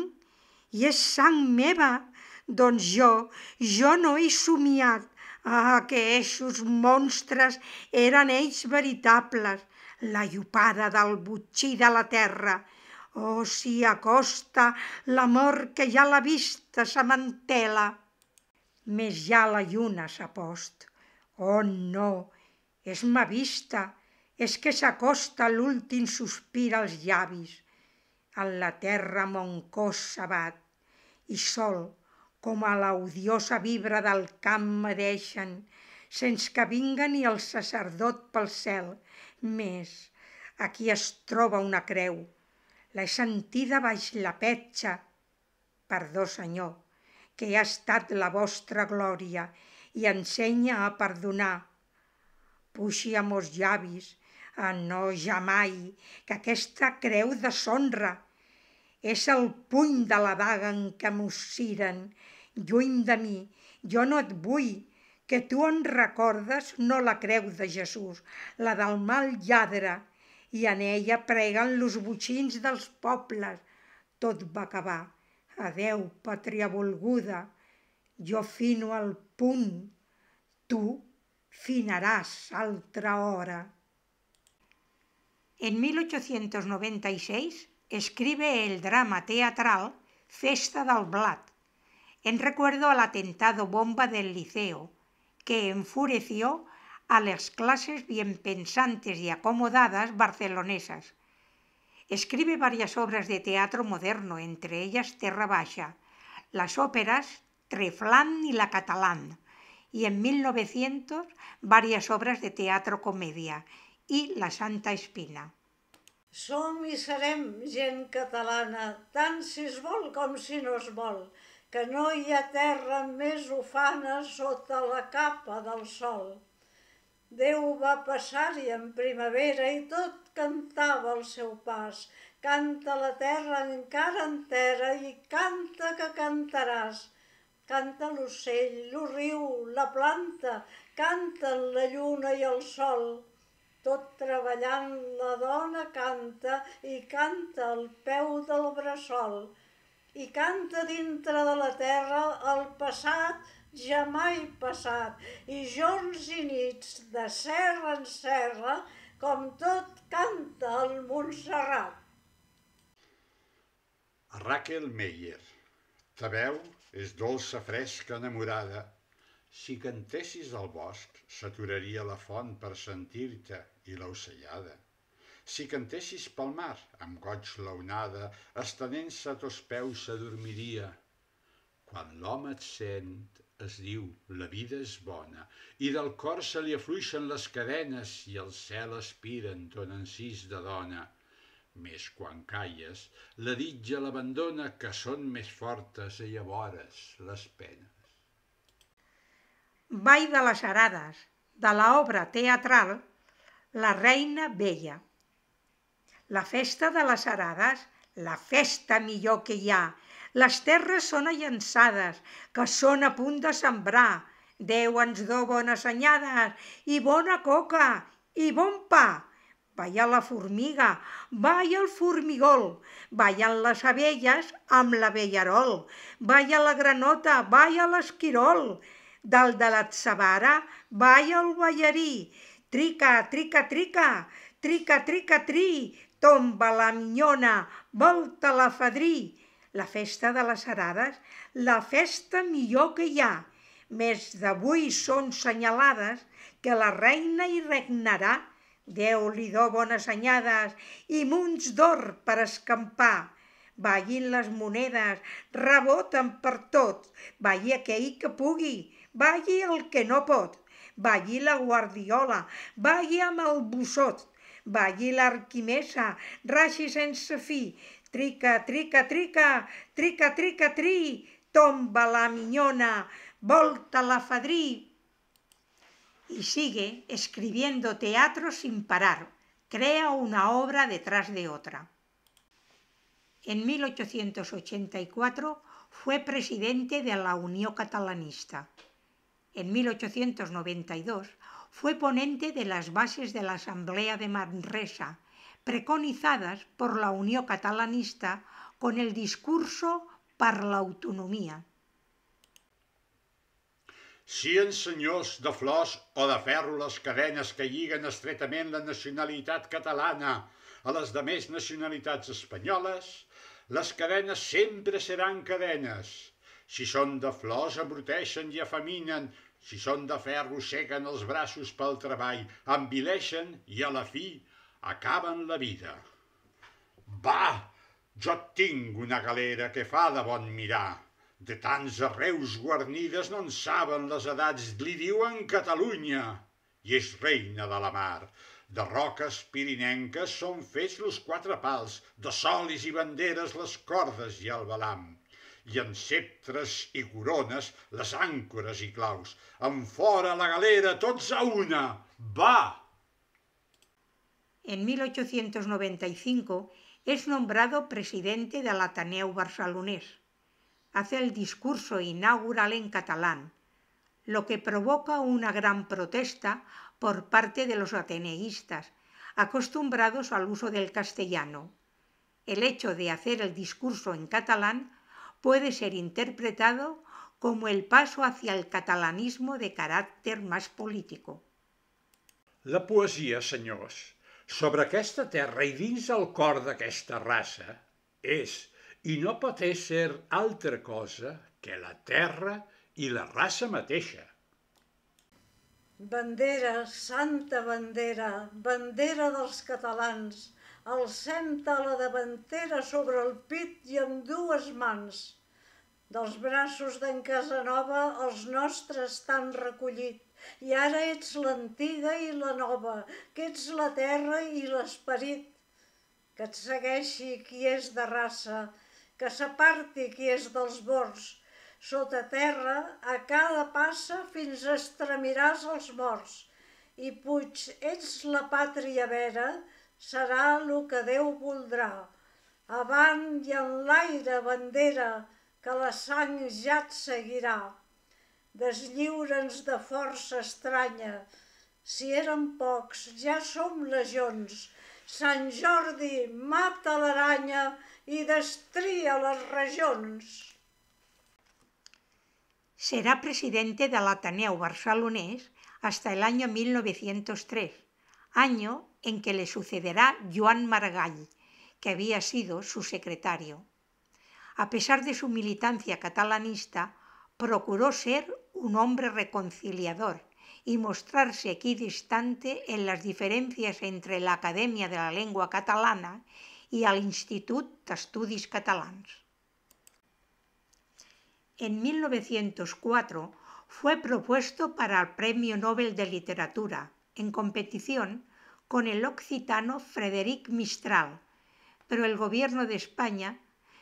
I és sang meva. Doncs jo no he somiat. Que eixos monstres eren ells veritables, la llopada del botxí de la terra. Oh, si acosta la mort que ja la vista s'amantela. Més ja la lluna s'ha post. Oh, no, és ma vista, és que s'acosta l'últim sospir als llavis. En la terra mon cos s'abat, i sol, com a l'odiosa vibra del camp me deixen, sense que vinga ni el sacerdot pel cel. Més, aquí es troba una creu. L'he sentida baix la petxa. Perdó, Senyor, que ha estat la vostra glòria i ensenya a perdonar. Puixi a mos llavis, no jamai, que aquesta creu deshonra. És el puny de la daga en què mos ciren. Lluny de mi, jo no et vull, que tu en recordes no la creu de Jesús, la del mal lladre, i en ella preguen los botxins dels pobles. Tot va acabar. Adeu, pàtria volguda. Jo fino al punt. Tu finaràs altra hora. En 1896 escribe el drama teatral Festa del Blat, en recuerdo al atentado bomba del Liceo, que enfureció a las clases bien pensantes y acomodadas barcelonesas. Escribe varias obras de teatro moderno, entre ellas Terra Baixa, las óperas Treflán y La Catalán, y en 1900 varias obras de teatro comedia y La Santa Espina. Som i serem gent catalana, tant si es vol com si no es vol, que no hi ha terra més ufana sota la capa del sol. Déu va passar-hi en primavera i tot cantava al seu pas. Canta la terra encara entera i canta que cantaràs. Canta l'ocell, el riu, la planta, canten la lluna i el sol. Tot treballant la dona canta i canta al peu del bressol. I canta dintre de la terra el passat ja mai passat, i jorns i nits de serra en serra, com tot canta el Montserrat. Raquel Meyer. Ta veu és dolça, fresca, enamorada. Si cantessis al bosc, s'aturaria la font per sentir-te i l'ocellada. Si cantessis pel mar, amb goig l'onada, estenent-se a tos peus s'adormiria. Quan l'home et sent, es diu, la vida és bona, i del cor se li afluixen les cadenes i el cel aspira en ton encís de dona. Més quan calles, la ditja l'abandona, que són més fortes i llavores les penes. Ball de les Arades, de l'obra teatral La Reina Vella. La festa de les Arades, la festa millor que hi ha. Les terres són allançades, que són a punt de sembrar. Déu ens do bones anyades, i bona coca, i bon pa. Balla la formiga, balla el formigol, ballen les abelles amb l'avellarol, balla la granota, balla l'esquirol. Dalt de l'atzavara balla el ballarí, trica, trica, trica, trica, trica, tri, tomba la minyona, volta la fadrí. La festa de les Arades, la festa millor que hi ha. Més d'avui són senyalades que la reina hi regnarà. Déu li do bones anyades i munts d'or per escampar. Ballin les monedes, reboten per tot, balli aquell que pugui, balli el que no pot, balli la guardiola, balli amb el bussot, balli l'arquimesa, raixi sense fi, trica, trica, trica, trica, trica, tri, tomba la minyona, volta la fadrí. Y sigue escribiendo teatro sin parar, crea una obra detrás de otra. En 1884 fue presidente de la Unión Catalanista. En 1892 fue ponente de las bases de la Asamblea de Manresa, preconizadas por la Unión Catalanista con el discurso per l'autonomia. Sien senyors de flors o de ferro les cadenes que lliguen estretament la nacionalitat catalana a les demés nacionalitats espanyoles, les cadenes sempre seran cadenes. Si són de flors abruteixen i afaminen, si són de ferro seguen els braços pel treball, envileixen i a la fi acaben la vida. Va, jo tinc una galera que fa de bon mirar. De tants arreus guarnides no en saben les edats, li diuen Catalunya, i és reina de la mar. De roques pirinenques són fets los quatre pals, de solis i banderes les cordes i el balam, i en ceptres i corones les àncores i claus. Enfora la galera, tots a una, va! En 1895 es nombrado presidente del Ateneu Barcelonés. Hace el discurso inaugural en catalán, lo que provoca una gran protesta por parte de los ateneístas, acostumbrados al uso del castellano. El hecho de hacer el discurso en catalán puede ser interpretado como el paso hacia el catalanismo de carácter más político. La poesia, senyors, sobre aquesta terra i dins el cor d'aquesta raça és i no pot ésser altra cosa que la terra i la raça mateixa. Bandera, santa bandera, bandera dels catalans, alcem-te a la davantera sobre el pit i amb dues mans. Dels braços d'en Casanova els nostres t'han recollit, i ara ets l'antiga i la nova, que ets la terra i l'esperit. Que et segueixi qui és de raça, que s'aparti qui és dels bors. Sota terra, a cada passa fins estremiràs els morts. I Puig, ets la pàtria vera, serà lo que Déu voldrà. Avant i en l'aire, bandera, que la sang ja et seguirà. Deslliura'ns de força estranya. Si érem pocs, ja som legions. Sant Jordi, mata l'aranya i destria les regions. Será presidente del Ateneu Barcelonés hasta el año 1903, año en que le sucederá Joan Maragall, que había sido su secretario. A pesar de su militancia catalanista, procuró ser un hombre reconciliador y mostrarse equidistante en las diferencias entre la Academia de la Lengua Catalana y el Institut d'Estudis Catalans. En 1904 fue propuesto para el Premio Nobel de Literatura, en competición con el occitano Frederic Mistral, pero el gobierno de España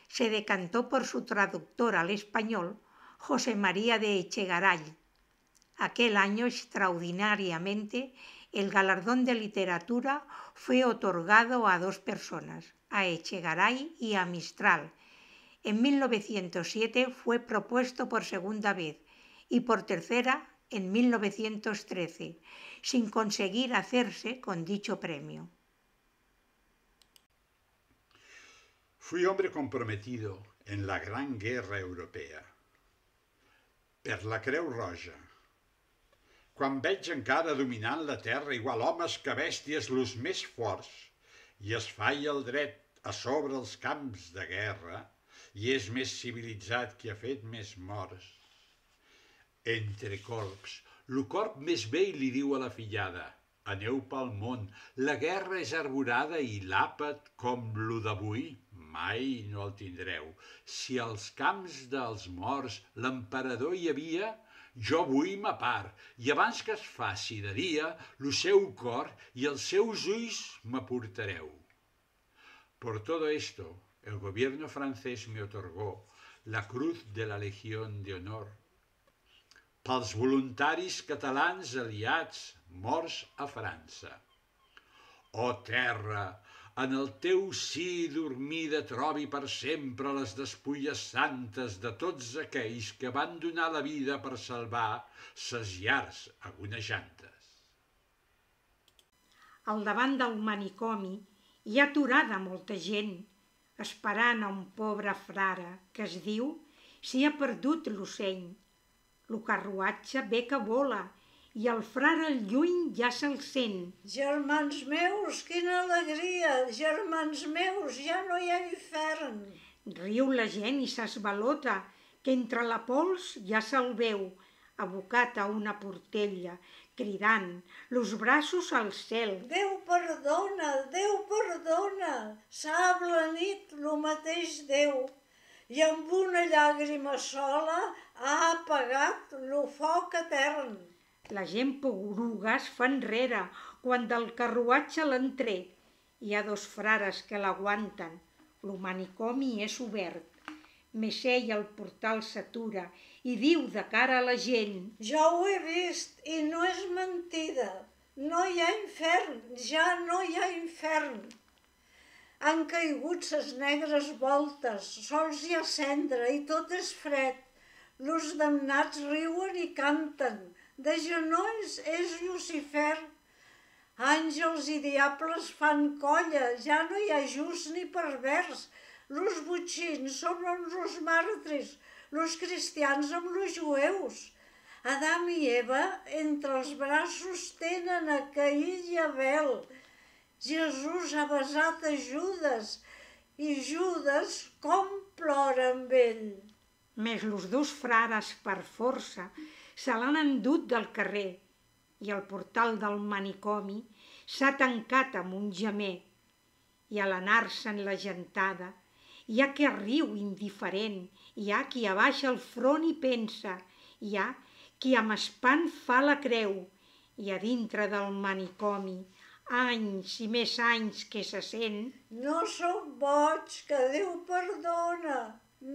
se decantó por su traductor al español, José María de Echegaray. Aquel año, extraordinariamente, el galardón de literatura fue otorgado a dos personas, a Echegaray y a Mistral. En 1907 fue propuesto por segunda vez y por tercera en 1913, sin conseguir hacerse con dicho premio. Fui hombre comprometido en la Gran Guerra Europea. Per la Creu Roja. Quan veig encara dominant la terra igual homes que bèsties los més forts, i es falla el dret a sobre els camps de guerra, i és més civilitzat qui ha fet més morts. Entre corps, lo corp més vell li diu a la fillada: aneu pel món, la guerra és arborada i l'àpat com lo d'avui mai no el tindreu. Si als camps dels morts l'emperador hi havia, jo vull ma part, i abans que es faci de dia, lo seu cor i els seus ulls m'aportareu. Por todo esto, el gobierno francés me otorgó la Cruz de la Legión de Honor. Pels voluntaris catalans aliats morts a França. Oh terra, en el teu si dormida trobi per sempre les despulles santes de tots aquells que van donar la vida per salvar ses llars agonejantes. Al davant del manicomi hi ha aturada molta gent, esperant a un pobre frare que es diu s'hi ha perdut l'ocell. Lo carruatge ve que vola i el frare al lluny ja se'l sent. Germans meus, quina alegria! Germans meus, ja no hi ha infern! Riu la gent i s'esvalota, que entre la pols ja se'l veu, abocat a una portella, cridant, los braços al cel. Déu perdona, Déu perdona! S'ha ablanit lo mateix Déu. i amb una llàgrima sola ha apagat lo foc etern. La gent porugues fa enrere quan del carruatge l'han tret. Hi ha 2 frares que l'aguanten. Lo manicomi és obert. Més ell al portal s'atura i diu de cara a la gent: Jo ho he vist i no és mentida. No hi ha infern, ja no hi ha infern. Han caigut ses negres voltes, sols hi ha cendra i tot és fred. Los damnats riuen i canten, de genolls és Llucifer. Àngels i diables fan colla, ja no hi ha just ni pervers. Los botxins són amb los màrtirs, los cristians amb los jueus. Adam i Eva entre els braços tenen a Caín i Abel. Jesús ha besat a Judes i Judes com plora amb ell. Més los 2 frares per força se l'han endut del carrer i el portal del manicomi s'ha tancat amb un gemer. I a l'anar-se'n la gentada hi ha qui riu indiferent, hi ha qui abaixa el front i pensa, hi ha qui amb espant fa la creu, i a dintre del manicomi, anys i més anys que se sent: No sóc boig, que Déu perdona,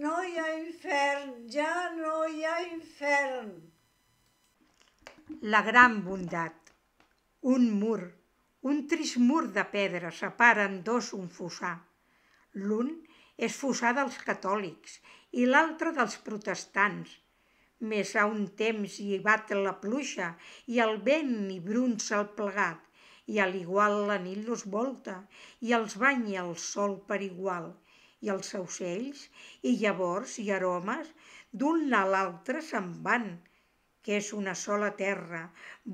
no hi ha infern, ja no hi ha infern. La gran bondat. Un mur, un trist mur de pedra separa en 2 un fossar. L'un és fossar dels catòlics i l'altre dels protestants. Més a un temps hi bat la pluja i el vent hi brunça el plegat, i a l'igual la nit los volta i els banya el sol per igual, i els aucells i llavors i aromes d'un a l'altre se'n van, que és una sola terra,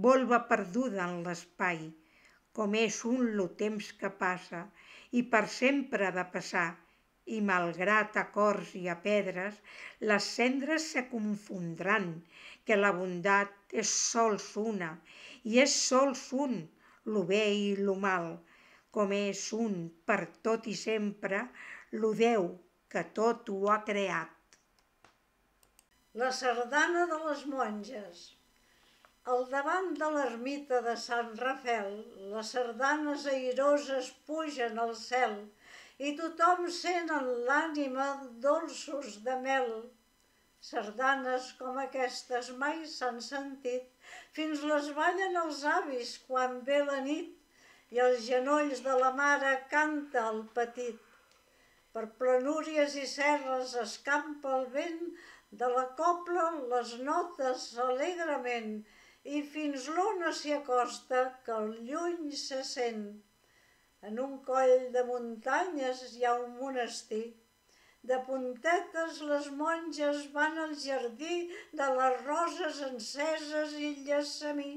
volva perduda en l'espai, com és un lo temps que passa i per sempre ha de passar, i malgrat a cors i a pedres, les cendres se confondran, que la bondat és sols una, i és sols un, lo bé i lo mal, com és un per tot i sempre, lo Déu que tot ho ha creat. La sardana de les monges. Al davant de l'ermita de Sant Rafel, les sardanes airoses pugen al cel i tothom sent en l'ànima dolços de mel. Sardanes com aquestes mai s'han sentit, fins les ballen els avis quan ve la nit i als genolls de la mare canta el petit. Per planúries i serres escampa el vent, de la cobla les notes alegrement, i fins l'ona s'hi acosta que al lluny se sent. En un coll de muntanyes hi ha un monestir. De puntetes les monges van al jardí de les roses enceses i el llessamí.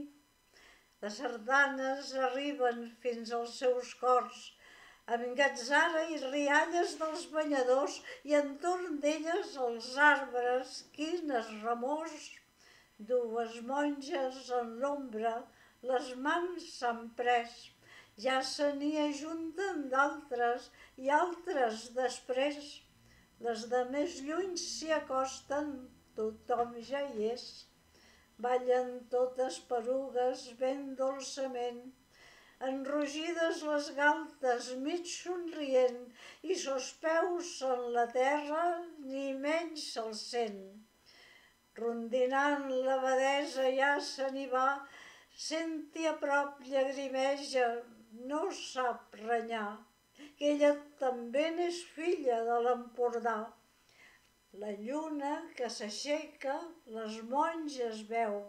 Les sardanes arriben fins als seus cors, amb gatzara i rialles dels banyadors, i entorn d'elles els arbres, quines remors. 2 monges en l'ombra les mans s'han pres, ja se n'hi ajunten d'altres i altres després. Les de més lluny s'hi acosten, tothom ja hi és. Ballen totes perugues ben dolçament, enrogides les galtes mig somrient, i sos peus en la terra ni menys se'ls sent. Rondinant l'abadesa ja se n'hi va, senti a prop llagrimeja, no sap renyar, que ella també n'és filla de l'Empordà. La lluna que s'aixeca les monges veu,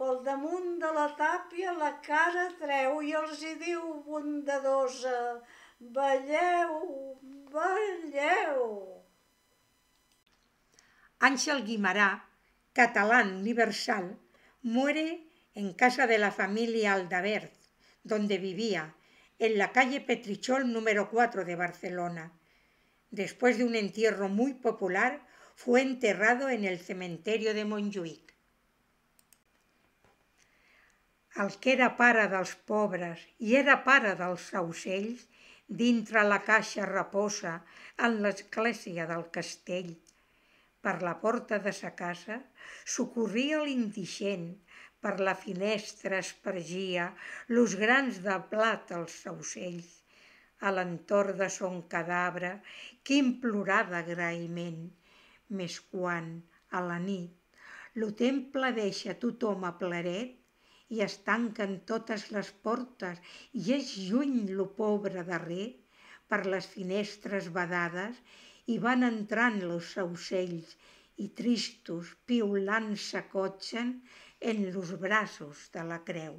pel damunt de la tàpia la cara treu i els hi diu bondadosa: balleu, balleu. Ángel Guimarà, catalán universal, muere en casa de la familia Aldavert, donde vivía, en la calle Petrichol número 4 de Barcelona. Después de un entierro muy popular, fue enterrado en el cementerio de Montjuïc. El que era pare dels pobres i era pare dels aucells, dintre la caixa reposa en l'església del castell. Per la porta de sa casa socorria l'indigent, per la finestra espargia los grans de blat als aucells. A l'entorn de son cadavre que implorar d'agraïment, més quan, a la nit, lo temple deixa tothom a pleret i es tanquen totes les portes i és lluny lo pobre darrer, per les finestres badades i van entrant los aucells i tristos, piulant s'acotxen en los braços de la creu.